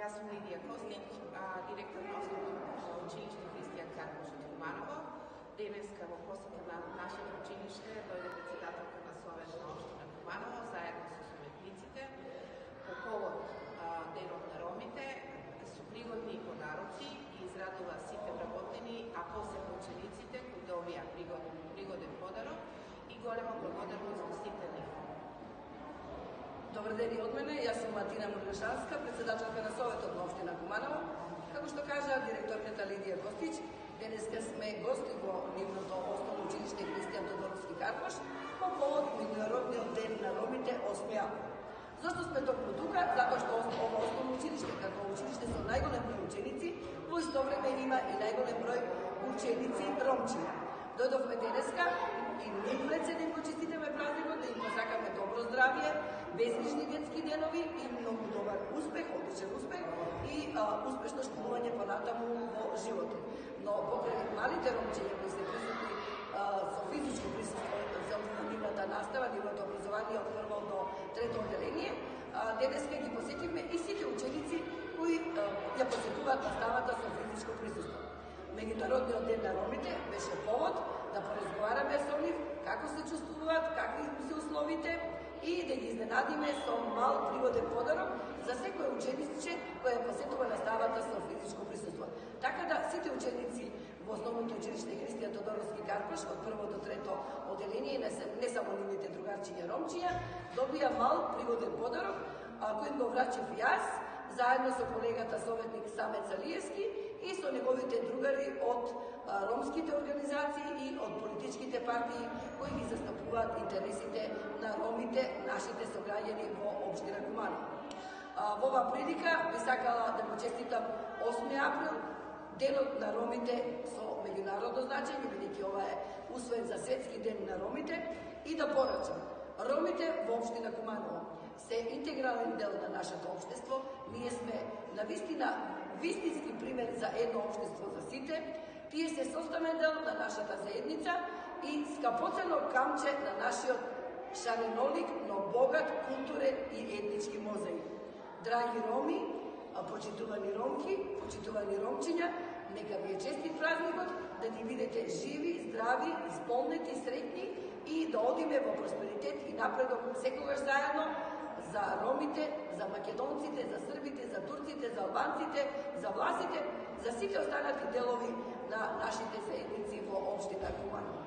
Јас сум Лидија Костич, директор на Основно училиште Христијан Карпош од Куманово. Денеска во посета на нашето училиште дојде председателка на Совет на општина Куманово заедно со советниците по повод Денот на ромите, со пригодни подароци и израдува сите вработени, а посебно учениците кои добија пригоден подарок и голема благодарност до сите нив. Добар ден и од мене, јас сум Матина Мурлешанска, председателка на Советот на општина Куманово. Како што кажа директорката Лидија Костич, денеска сме гости во нивното основно училиште Христијан Тодоровски Карпош по повод Меѓународниот ден на ромите 8 април. Зошто сме токму тука? Затоа што ова основно училиште, како училиште со најголем број ученици, во исто време има и најголем број ученици ромчи. Дојдовме денеска и нив председни го честитаме празникот, да им посакаме добро здравје, безгрижни детски денови и многу добар успех, одличен успех и успешно школување понатаму во животот. Но покрај малите ромчиња кои се присутни со физичко присуство за нивната настава, нивното образование од прво до трето одделение, денеска ги посетивме и сите ученици кои ја посетуваат наставата со физичко присуство. Меѓународниот ден на ромите беше повод да поразговараме со нив како се чувствуваат, какви се условите и да ги изненадиме со мал пригоден подарок за секој учениче кој посетува наставата со физичко присуство. Така да сите ученици во основното училиште Христијан Тодоровски Карпош од прво до трето одделение, не само нивните другарчиња ромчиња, добија мал пригоден подарок кој го врачев јас заедно со колегата советник Самет Салиевски и со неговите другари од ромските организации и од политичките партии кои ги застапуваат интересите на ромите, нашите сограѓани во општина Куманово. Во оваа прилика би сакала да му честитам 8 април, денот на ромите со меѓународно значење, бидејќи ова е усвоен за светски ден на ромите, и да порачам. Ромите во општина Куманово се интегрален дел на нашето општество. Ние сме на вистински пример за едно општество за сите. Тие се составен дел на нашата заедница и скапоцено камче на нашиот шаренолик, но богат културен и етнички мозаик. Драги роми, почитувани ромки, почитувани ромчиња, нека ви е честит празникот, да ни бидете живи, здрави, исполнети, среќни и да одиме во просперитет и напредок секогаш заедно за ромите, за македонците, за србите, за турците, за албанците, за власите, за сите останати делови на нашите заедници во општина Куманово.